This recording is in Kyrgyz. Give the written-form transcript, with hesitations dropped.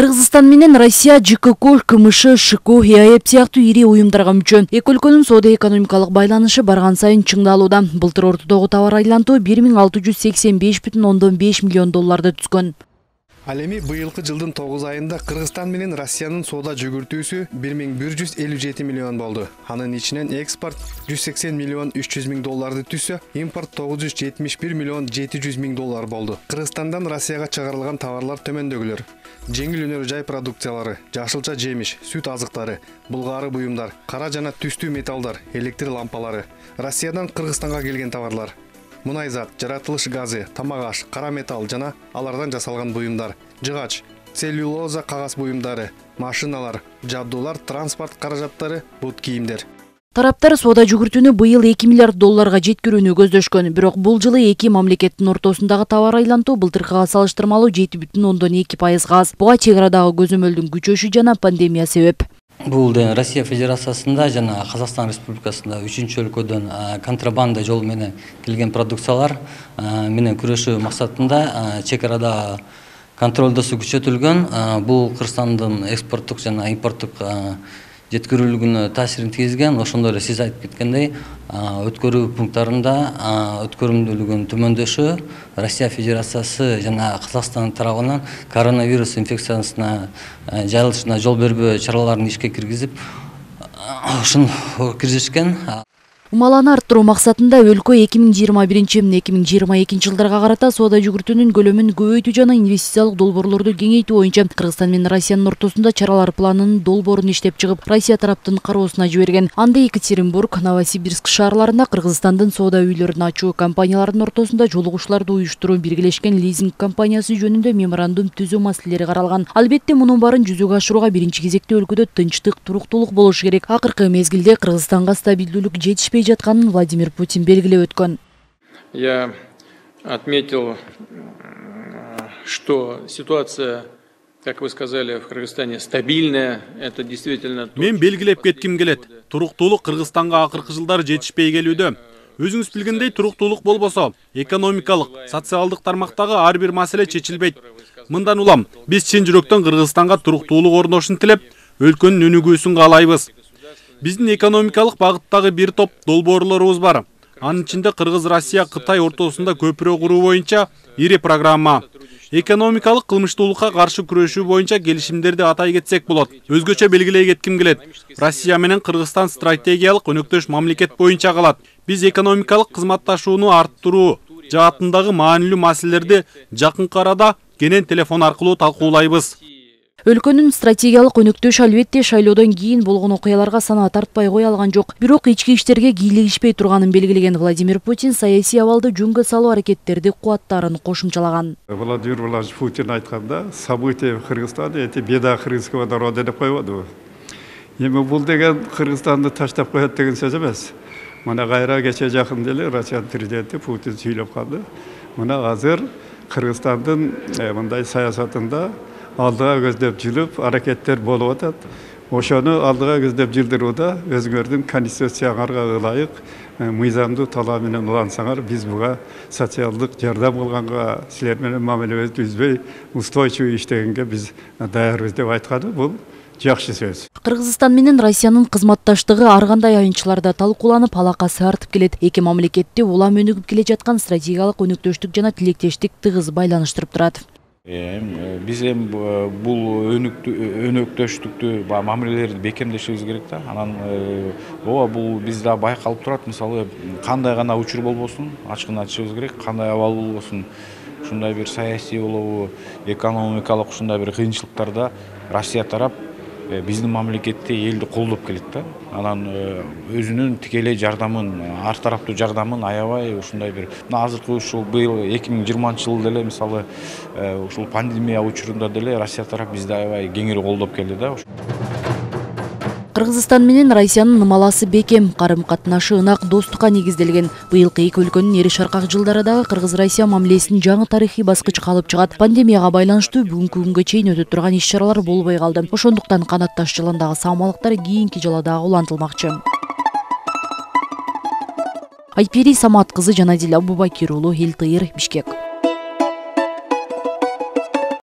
Кыргызстан менен Россия ЖКК, КМШ, ШКО, ЕАЭП сыяктуу ири уюмдарга мүчө. Эки өлкөнүн соода-экономикалык байланышы барган сайын чыңдалууда. Былтыр ортодогу товар айлантуу 1685,5 миллион долларды түзгөн. Ал эми быйылкы жылдын 9 айында Кыргызстан менен Россиянын соода жүгүртүүсү 1157 миллион болду. Анын ичинен экспорт 180 миллион 300 миң долларды түзсө, импорт 971 миллион 700 миң доллар болду. Кыргызстандан Россияга чыгарылган товарлар төмөндөгүлөр: жеңил өнөр жай продукциялары, жашылча жемиш, сүт азыктары, булгаары буюмдар, кара жана түстүү металлдар, электр лампалары. Россиядан Кыргызстанга келген товарлар: мунайзат, жаратылыш газы, тамак аш, кара металл жана алардан жасалган буюмдар, жыгач, целлюлоза кагаз буюмдары, машиналар, жабдуулар, транспорт каражаттары, бут кийимдер. Тараптар соода жүгүртүүнү быйыл 2 миллиард долларга жеткирүүнү көздөшкөн. Бирок бул жылы эки мамлекеттин ортосундагы товар айлантуу былтыркыга салыштырмалуу 7,2% аз. Буга чек арадагы көзөмөлдүн күчөшү жана пандемия себеп. Бул Россия Федерациясында жана Казакстан Республикасында 3-чү өлкөдөн контрабанда жолу менен келген продукциялар менен күрөшүү максатында чек арада контролдосу күчөтүлгөн. Бул Кыргызстандын экспорттук жана импорттук жеткирүүлүгүнө таасирин тийгизген. Ошондой эле сиз айтып кеткендей, өткөрүү пункттарында өткөрүмдүүлүгүнүн төмөндөшү Россия Федерациясы жана Казакстан тарабынан коронавирус инфекциясына жайылышына жол бербөө чараларын ишке киргизип, ушуну киргизишкен. Умаланы арттыруу максатында өлкө 2021-2022 жылдарга карата соода жүгүртүүнүн көлөмүн көбөйтүү жана инвестициялык долбоорлорду кеңейтүү боюнча Кыргызстан менен Россиянын ортосунда чаралар планынын долбоорун иштеп чыгып, Россия тараптын кароосуна жиберген. Анда Екатеринбург, Новосибирск шаарларында Кыргызстандын соода үйлөрүн ачуу, компаниялардын ортосунда жолугушууларды уюштуруу, биргелешкен лизинг компаниясы жөнүндө меморандум түзүү маселелери каралган. Албетте мунун баарын жүзөгө ашырууга биринчи кезекте өлкөдө тынчтык, туруктуулук болушу керек. Акыркы мезгилде Кыргызстанга стабилдүүлүк жетишпей жатканын Владимир Путин белгилеп өткөн. Я отметил, что ситуация, как вы сказали, в Кыргызстане стабильная. Это действительно. Мен белгилеп кетким келет. Туруктуулук Кыргызстанга акыркы жылдары жетишпей келүүдө. Өзүңүз билгендей, туруктуулук болбосо, экономикалык, социалдык тармактагы ар бир маселе чечилбейт. Мындан улам, биз чын жүрөктөн Кыргызстанга туруктуулук орношун тилеп, өлкөнүн өнүгүүсүн каалайбыз. Биздин экономикалык багыттагы бир топ долбоорлорубуз бар. Анын ичинде Кыргыз-Россия-Кытай ортосунда көпүрө куруу боюнча ири программа, экономикалык кылмыштуулукка каршы күрөшүү боюнча келишимдерди атай кетсек болот. Өзгөчө белгилей кетким келет. Россия менен Кыргызстан стратегиялык өнөктөш мамлекет боюнча калат. Биз экономикалык кызматташууну арттыруу жаатындагы маанилүү маселелерди жакынкы арада кенен телефон аркылуу талкуулайбыз. Өлкөнүн стратегиялык өнөктөш албетте шайлоодон кийин болгон окуяларга санаа тартпай кое алган жок. Бирок ички иштерге кийлигишпей турганын белгилеген Владимир Путин саясий абалды жөнгө салуу аракеттерди кубаттаарын кошумчалаган. Владимир Владимирович Путин айтканда, события в Кыргызстане эти беда кыргызского народа деп койбоду. Эми бул деген Кыргызстанды таштап коет деген сөз эмес. Мына кайра кече жакын деле Россия президенти Путин сүйлөп калды. Мына азыр Кыргызстандын мындай саясатында алдыга көздөп жүрүп аракеттер болуп атат. Ошону алдыга көздөп жылдырууда өзүңөрдүн конституцияңарга ылайык мыйзамдуу талап менен улансаңар, биз буга социалдык жардам кылганга, силер менен мамилебизди үзбөй устойчивый иштегенге биз даярбыз деп айтканы бул жакшы сөз. Кыргызстан менен Россиянын кызматташтыгы ар кандай айынчыларда талкууланып, алакасы артып келет. Эки мамлекетти улам өнүгүп келе жаткан стратегиялык өнөктөштүк жана тилектештик тыгыз байланыштырып турат. Биз бул өнөктөштүктү мамилелерди бекемдешибиз керек да. Анан бул бизде байкалып турат. Мисалы, кандай гана учур болбосун, ачыгын айтышыбыз керек. Кандай абал болбосун, ушундай бир саясий болобу, экономикалык ушундай бир кыйынчылыктарда Россия тарап биздин мамлекетти, элди колдоп келет да. Анан өзүнүн тикелей жардамын, ар тараптуу жардамын аябай ушундай бир азыркы ушул быйыл 2020-жылы деле мисалы ушул пандемия учурунда деле Россия тарап бизди аябай кеңири колдоп келди да. Кыргызстан менен Россиянын ымаласы бекем, карым-катнашы ынак, достукка негизделген. Быйылкы эки өлкөнүн эри шаркак жылдарындагы Кыргыз-Россия мамилесинин жаңы тарыхый баскычка алып чыгат. Пандемияга байланыштуу бүгүнкү күнгө чейин өтө турган иш-чаралар болбой калды. Ошондуктан канатташ жылындагы саамалыктар кийинки жылда дагы улантылмакчы. Айпери Самат кызы Жанадил Абубакир уулу, Эл Тыйыр, Бишкек.